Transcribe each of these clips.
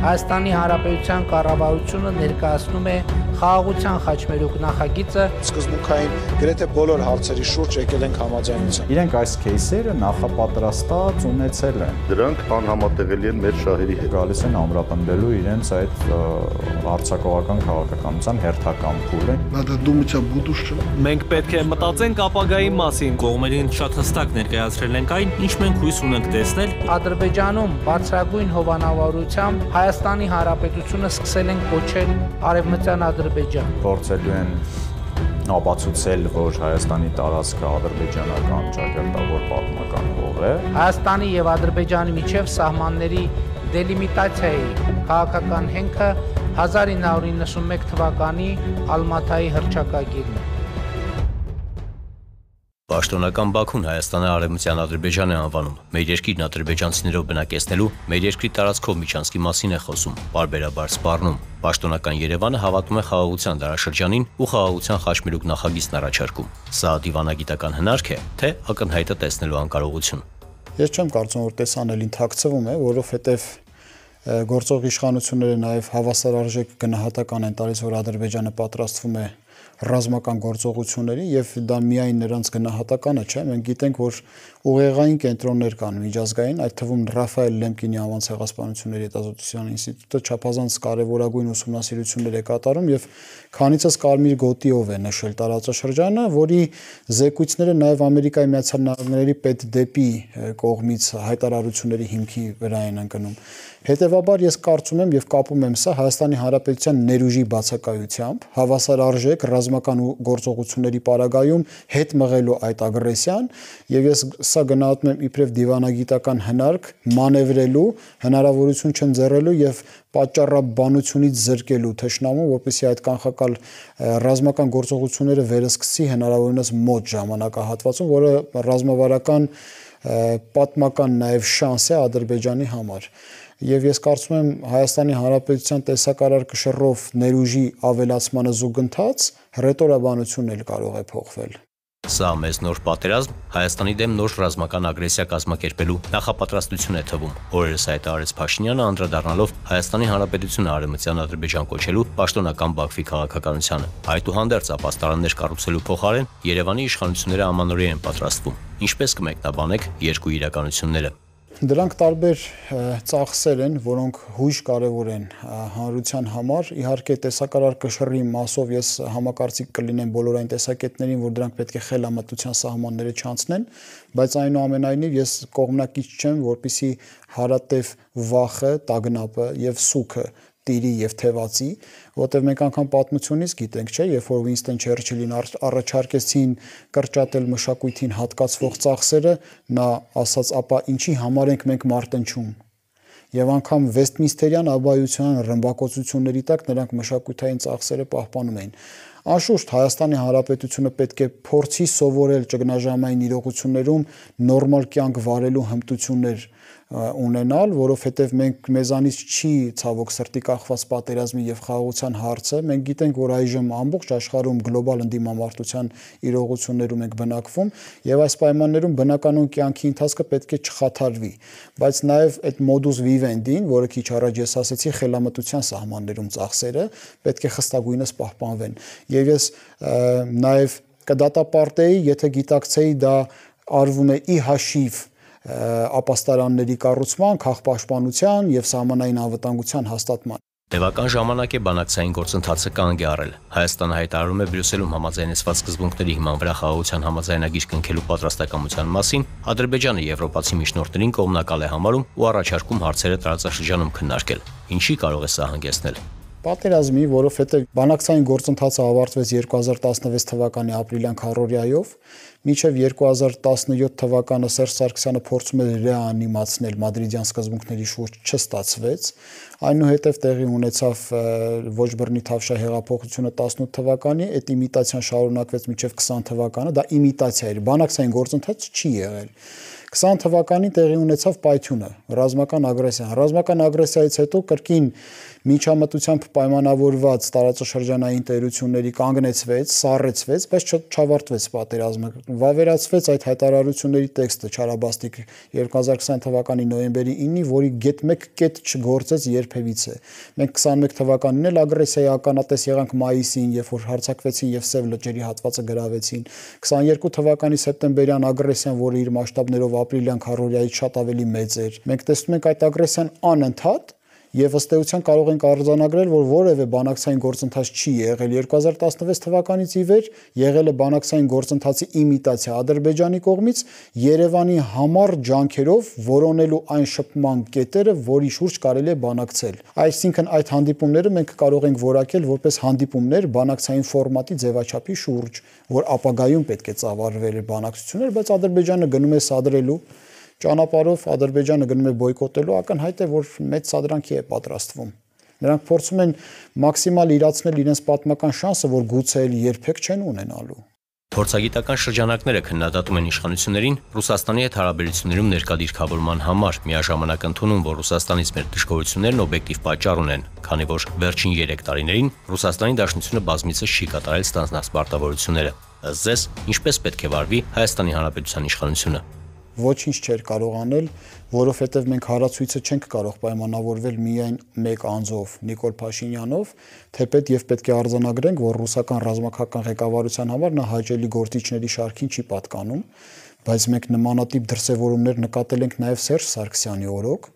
Հայաստանի Հանրապետության կառավարությունը ներկայացնում է խաղաղության խաչմերուկ նախագիծը։ Սկզբունքային գրեթե բոլոր հարցերի շուրջ եկել ենք համաձայնության։ Իրենք այս кейսերը նախապատրաստած ունեցել են։ Դրանք անհամատեղելի են մեր շահերի հետ։ Գալիս են ամրապնդելու իրենց այդ արձակողական քաղաքականության հերթական փուլը։ Надо думать о будущем։ Մենք պետք է մտածենք ապագայի մասին։ Կողմերին շատ հստակ ներկայացրել ենք այն, ինչ մենք հույս ունենք տեսնել։ Ադրբեջանում բարձրագույն հովանավորությամբ Հայաստանի Հանրապետությունը սկսել են կոչել Արևմտյան Ադրբեջան։ Փորձելու են ապացուցել, որ Հայաստանի տարածքը ադրբեջանական ճակատավոր պատմական հող է։ Հայաստանի եւ Ադրբեջանի միջև սահմանների դելիմիտացիայի քաղաքական հենքը 1991 թվականի Ալմաթայի հռչակագիրն է։ Պաշտոնական Բաքուն Հայաստանը Արևմտյան Ադրբեջան է անվանում։ Մեր երկիրն ադրբեջանցիներով բնակեցնելու, մեր երկրի տարածքով միջանցքի մասին է խոսում, պարբերաբար սպառնում։ Պաշտոնական Երևանը հավատում է խաղաղության դարաշրջանին ու խաղաղության խաչմերուկ նախագիծն առաջարկում։ Սա դիվանագիտական հնարք է, թե ակնհայտը տեսնելու անկարողություն։ Ես չեմ կարծում, որ տեսանելին թաքցվում է, որովհետև գործող իշխանությունները նաև հավասարարժեք գնահատական են տալիս, որ Ադրբեջանը պատրաստվում է ռազմական գործողությունների եւ դա միայն նրանց գնահատականը չէ, մենք գիտենք, որ ուղեղային կենտրոններ կան միջազգային, այդ թվում Ռաֆայել Լեմկինի անվան ցեղասպանությունների հետազոտության ինստիտուտը չափազանց կարևորագույն ուսումնասիրություններ է կատարում եւ քանիցս կարմիր գոտիով է նշել տարածաշրջանը, որի զեկույցները նաև Ամերիկայի Միացյալ Նահանգների պետդեպի կողմից հայտարարությունների հիմքի վրա են ընկնում։ Հետևաբար ես կարծում եմ եւ կապում եմ սա Հայաստանի Հանրապետության ներուժի բացակայությամբ, հավասարարժեք ռազմական գործողությունների պարագայում հետ մղելու այդ ագրեսիան եւ ես սա գնահատում եմ իբրև դիվանագիտական հնարք մանևրելու, հնարավորություն չընձեռելու եւ պատճառաբանությունից զրկելու թշնամուն, որպեսզի այդ կանխակալ ռազմական գործողությունները վերսկսի հնարավորինս մոտ ժամանակահատվածում, որը ռազմավարական պատմական նաեւ շանս է Ադրբեջանի համար։ Եվ ես կարծում եմ Հայաստանի Հանրապետության տեսակարար կշռով ներուժի ավելացմանը զուգընթաց հռետորաբանությունն էլ կարող է փոխվել։ Սա մեզ նոր պատերազմ Հայաստանի դեմ նոր ռազմական ագրեսիա կազմակերպելու նախապատրաստություն է թվում։ Օրերս հայտարարեց Փաշինյանը անդրադառնալով Հայաստանի Հանրապետությունը Արևմտյան Ադրբեջան կոչելու պաշտոնական Բաքվի քաղաքականությանը։ Այդուհանդերձ ապաստարաններ կառուցելու փոխարեն Երևանի իշխանությունները ամանորի են պատրաստվում։ Ինչպես կմեկնաբանեք երկու իրականությունները։ Դրանք տարբեր ծախսեր են, որոնք հույժ կարևոր են հանրության համար։ Իհարկե տեսակարար կշռի մասով ես համակարծիք կլինեմ բոլոր այն տեսակետներին, որ դրանք պետք է խելամտության սահմանները չանցնեն, բայց այնուամենայնիվ ես կողմնակից չեմ, որպեսզի հարատև վախը, տագնապը եւ սուքը տիրի եւ թևածի, որտեղ մենք անգամ պատմությունից գիտենք, չէ, երբ որ Վինստոն Չերչիլին առաջարկեցին կրճատել մշակույթին հատկացվող ծախսերը, նա ասաց, ապա ինչի համար ենք մենք մարտնչում։ Եվ անգամ Վեստմինստերյան աբայության ռմբակոծությունների տակ նրանք մշակութային ծախսերը պահպանում էին։ Անշուշտ Հայաստանի Հանրապետությունը պետք է փորձի սովորել ճգնաժամային իրողություններում նորմալ կյանք վարելու հմտություններ ունենալ, որովհետև մեզանից չի ցավոք սրտի կախված պատերազմի եւ խաղաղության հարցը, մենք գիտենք, որ այժմ ամբողջ աշխարհում գլոբալ ընդդիմամարտության իրողություններում ենք բնակվում եւ այս պայմաններում բնականon կյանքի ընթացքը պետք է չխաթարվի, բայց նաեւ այդ modus vivendi-ին, որը քիչ առաջ ես ասացի, խելամտության սահմաններում ծախսերը պետք է խստագույնս պահպանվեն եւ ես նաեւ կդատապարտեի, եթե գիտակցեի դա արվում է ի հաշիվ ապաստարանների կառուցման, քաղաքապաշտպանության եւ սահմանային անվտանգության հաստատման։ Տևական ժամանակ է բանակցային գործընթացը կանգ է առել։ Հայաստանը հայտարարում է Բրյուսելում համաձայնեցված սկզբունքների հիման վրա խաղաղության համաձայնագիր կնքելու պատրաստակամության մասին, Ադրբեջանը եվրոպացի միջնորդներին կողմնակալ է համարում ու առաջարկում հարցերը տարածաշրջանում քննարկել։ Ինչի կարող է սա հանգեցնել։ Պատերազմի, որովհետև բանակցային գործընթացը ավարտվեց 2016 թվականի ապրիլյան քառորիայով, մինչև 2017 թվականը Սերժ Սարգսյանը փորձում էր ռեանիմացնել մադրիդյան սկզբունքների շուրջ չստացվեց, այնուհետև տեղի ունեցավ ոչ բռնի Թավշյա հեղափոխությունը 18 թվականի, այդ իմիտացիան շարունակվեց մինչև 20 թվականը, դա իմիտացիա էր, բանակցային գործընթաց չի եղել։ 20 թվականին տեղի ունեցավ պայթյունը, ռազմական ագրեսիան։ Ռազմական ագրեսիայից հետո կրկին միջամտությամբ պայմանավորված տարածաշրջանային տերությունների կանգնեցվեց, սառեցվեց, բայց չավարտվեց պատերազմը։ Վավերացվեց այդ հայտարարությունների տեքստը Չարաբաստիկ 2020 թվականի նոյեմբերի 9-ի, որի գետ մեկ կետ չգործեց երբևիցե։ Մենք 21 թվականին էլ ագրեսիայի ականատես եղանք մայիսին, երբ որ հարձակվեցին եւ Սև լճերի հատվածը գրավեցին։ 22 թվականի սեպտեմբերյան ագրեսիան, որը իր մասշտաբներով ապրիլյան քառորիայից շատ ավելի մեծ էր։ Մենք տեսնում ենք այդ ագրեսիան անընդհատ եւ ըստ էության կարող ենք արձանագրել, որ որևէ բանակցային գործընթաց չի եղել։ 2016 թվականից ի վեր եղել է բանակցային գործընթացի իմիտացիա Ադրբեջանի կողմից Երևանի համար ջանքերով որոնելու այն շփման կետերը, որի շուրջ կարելի է բանակցել։ Այսինքն այդ հանդիպումները մենք կարող ենք որակել որպես հանդիպումներ բանակցային ֆորմատի ձևաչափի շուրջ, որ ապագայում պետք է ծավալվեր բանակցություններ, բայց Ադրբեջանը գնում է սադրելու ճանապարհով, Ադրբեջանը գնում է բոյկոտելու, ակնհայտ է, որ մեծ սադրանքի է պատրաստվում։ Նրանք փորձում են մաքսիմալ իրացնել իրենց պատմական շանսը, որ գուցե երբեք չեն ունենալու։ Փորձագիտական շրջանակները քննադատում են իշխանություններին Ռուսաստանի հետ հարաբերություններում ներկա դիրքավորման համար, միաժամանակ ընդունում, որ Ռուսաստանից մեր դժգոհություններն օբյեկտիվ պատճառ ունեն, քանի որ վերջին 3 տարիներին Ռուսաստանի Դաշնությունը բազմիցս չի կատարել ստանձնած պարտավորությունները։ Ըստ ձեզ, ինչպես պետք է վարվի Հայաստանի Հանրապետության իշխանությունը։ Ոչինչ չէր կարող անել, որովհետև մենք հարացույցը չենք կարող պայմանավորվել միայն մեկ անձով՝ Նիկոլ Փաշինյանով, թեպետ եւ պետք է արձանագրենք, որ ռուսական ռազմաքաղաքական ղեկավարության համար նա հաճելի գործիչների շարքին չի պատկանում, բայց մենք նմանատիպ դրսևորումներ նկատել ենք նաեւ Սերժ Սարգսյանի օրոք,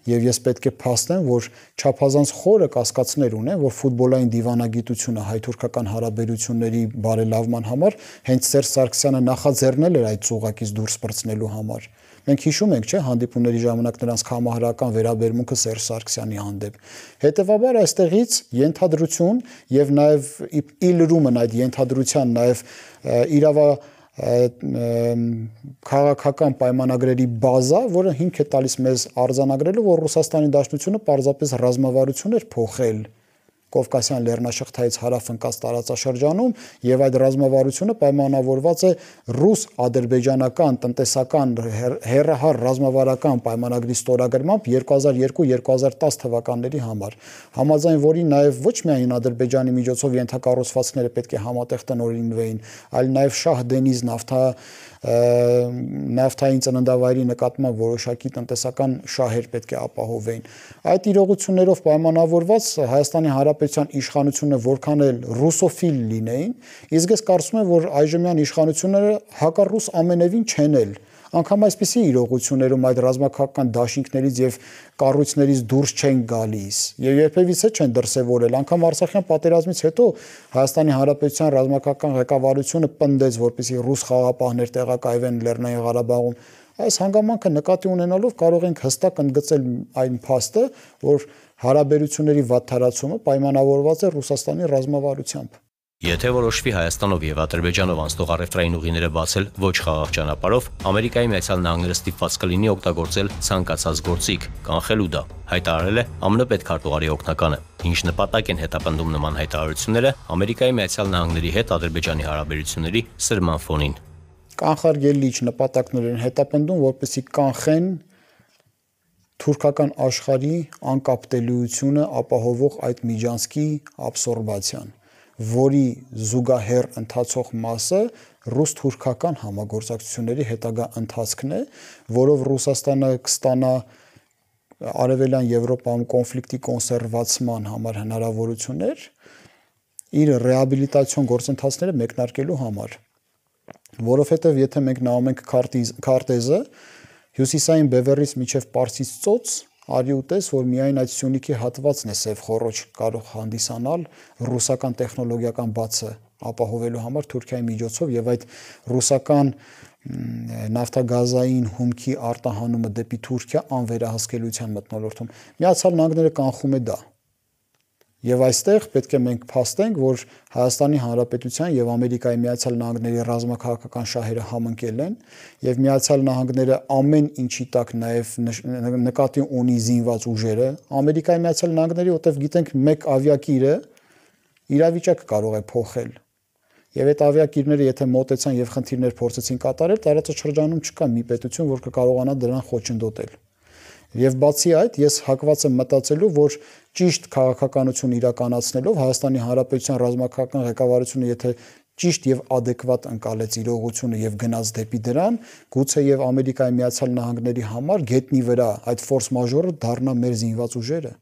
եւ ես պետք է փաստեմ, որ չափազանց խորը կասկածներ ունեն, որ ֆուտբոլային դիվանագիտությունը հայ-թուրքական հարաբերությունների բարելավման համար հենց Սերժ Սարգսյանը նախաձեռնել էր այդ ծուղակից դուրս պրծնելու համար։ Մենք հիշում ենք, չէ, հանդիպումների ժամանակ նրանց համահարական վերաբերմունքը Սերժ Սարգսյանի հանդեպ։ Հետևաբար այստեղից ենթադրություն եւ նաեւ ի լրումն այդ ենթադրության նաեւ քաղաքական պայմանագրերի բազա, որը հիմք է տալիս մեզ արձանագրելու, որ Ռուսաստանի Դաշնությունը պարզապես ռազմավարություն էր փոխել Կովկասյան լեռնաշղթայից հարավ ընկած տարածաշրջանում եւ այդ ռազմավարությունը պայմանավորված է ռուս-ադրբեջանական տնտեսական հեռահար ռազմավարական պայմանագրի ստորագրմամբ 2002-2010 թվականների համար, համաձայն որի նաեւ ոչ միայն Ադրբեջանի միջոցով ենթակառուցվածքները պետք է համատեղ տնօրինվեին, այլ նաեւ Շահ Դենիզ նավթային ծննդավայրի նկատմամբ որոշակի տնտեսական շահեր պետք է ապահովեին։ Այդ իրողություններով պայմանավորված Հայաստանի Հանրապետության իշխանությունը որքան էլ ռուսոֆիլ լինեին, իսկ ես կարծում եմ, որ այժմյան իշխանությունները հակառուս ամենևին չեն էլ։ Անկամ այսպիսի իրողություններում այդ ռազմաքաղաքական դաշինքներից եւ կառույցներից դուրս չեն գալիս եւ երբևիցե չեն դրսեւորել։ Անկամ Արցախյան պատերազմից հետո Հայաստանի Հանրապետության ռազմաքաղաքական ղեկավարությունը պնդեց, որպեսզի ռուս խաղապահներ տեղակայվեն Լեռնային Ղարաբաղում։ Այս հանգամանքը նկատի ունենալով կարող ենք հստակ ընդգծել այն փաստը, որ հարաբերությունների վատթարացումը պայմանավորված է Ռուսաստանի ռազմավարությամբ։ Եթե որոշվի Հայաստանով եւ Ադրբեջանով անցնող առևտրային ուղիները բացել ոչ խաղաղ ճանապարհով, Ամերիկայի Միացյալ Նահանգները ստիպված կլինի օգտագործել ցանկացած գործիք, կանխելու դա, հայտարարել է ԱՄՆ պետքարտուղարի օգնականը։ Ինչ նպատակ են հետապնդում նման հայտարարությունները Ամերիկայի Միացյալ Նահանգների հետ Ադրբեջանի հարաբերությունների սրման ֆոնին։ Կանխարգելիչ նպատակներ են հետապնդում, որպեսզի կանխեն թուրքական աշխարհի անկապտելիությունը ապահովող այդ միջանցքի աբսորբացիան, որի զուգահեռ ընթացող մասը ռուս-թուրքական համագործակցությունների հետագա ընթացքն է, որով Ռուսաստանը կստանա Արևելյան Եվրոպայում կոնֆլիկտի կոնսերվացման համար հնարավորություններ իր ռեաբիլիտացիոն գործընթացները մեկնարկելու համար, որովհետև եթե մենք նայում ենք քարտեզը, հյուսիսային բևեռից մինչև Պարսից ծոց արի ուտես, որ միայն այդ Սյունիքի հատվածն է սև խոռոչ կարող հանդիսանալ ռուսական տեխնոլոգիական բացը ապահովելու համար Թուրքիայի միջոցով եւ այդ ռուսական նավթագազային հումքի արտահանումը դեպի Թուրքիա անվերահսկելիության մթնոլորտում Միացյալ Նահանգները կանխում է դա։ Եվ այստեղ պետք է մենք փաստենք, որ Հայաստանի Հանրապետության եւ Ամերիկայի Միացյալ Նահանգների ռազմաքաղաքական շահերը համընկել են եւ Միացյալ Նահանգները ամեն ինչի տակ նաեւ նկատի ունի զինված ուժերը, Ամերիկայի Միացյալ Նահանգների, որտեղ գիտենք մեկ ավիակիրը իրավիճակը կարող է փոխել։ Եվ այդ ավիակիրները եթե մոտեցան եւ խնդիրներ փորձեցին կատարել, տարածաշրջանում չկա մի պետություն, որ կկարողանա դրան խոչընդոտել։ Եվ բացի այդ, ես հակված եմ մտածելու, որ ճիշտ քաղաքականություն իրականացնելով Հայաստանի Հանրապետության ռազմական ղեկավարությունը, եթե ճիշտ եւ adekvat ընկալեց իրողությունը եւ գնաց դեպի դրան, գուցե եւ Ամերիկայի Միացյալ Նահանգների համար գետնի վրա այդ ֆորս մաժորը դառնա մեր զինված ուժերը։